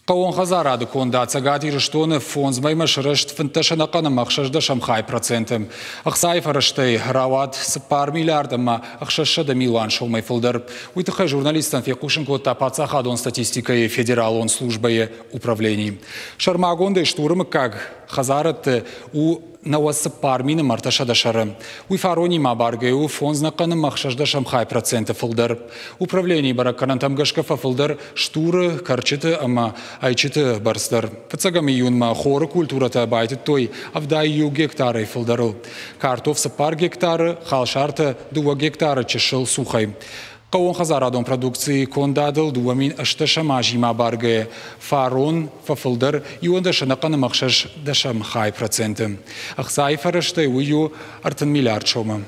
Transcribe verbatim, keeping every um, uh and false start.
Хъӕууон хӕдзарады кондад Цӕгат Ирыстоны фондз мӕймӕ сырӕзт фынддӕс ӕнӕхъӕн ӕмӕ ӕхсӕздӕсӕм хай проценты. Ӕхцайы фӕрӕзтӕй рауад цыппар миллиард ӕмӕ ӕхсӕзсӕдӕ милуан сомӕй фылдӕр. Уый тыххӕй журналисттӕн фехъусын кодта паддзахадон статистикӕйы федералон службӕйы управлени. Сӕрмагондӕй стуры мыггаг хӕдзарӕдты у нӕуӕдз цыппар мины ӕртӕсӕдӕ сӕры. Уый фаронимӕ абаргӕ у фондз ӕнӕхъӕн ӕмӕ ӕхсӕздӕсӕм хай проценты фылдӕр. Управленийы бӕрӕггӕнӕнтӕм гӕсгӕ фӕфылдӕр стуры, кӕрчыты ӕмӕ ӕйчыты бӕрц дӕр. Фыццӕгӕм июнмӕ хоры культурӕтӕ байтыдтой ӕвдай иу гектарӕй фылдӕрыл. Картоф цыппар гектары, халсартӕ дыууӕ гектары чысыл цухӕй. Хъӕууонхӕдзарадон продукцийы кондадыл дыууӕ мин ӕстдӕсӕм азимӕ абаргӕйӕ фарон фӕфылдӕр иуӕндӕс ӕнӕхъӕн ӕмӕ ӕхсӕздӕсӕм хай проценты. Ӕхцайы фӕрӕзтӕй уый у ӕртын миллиард сомы.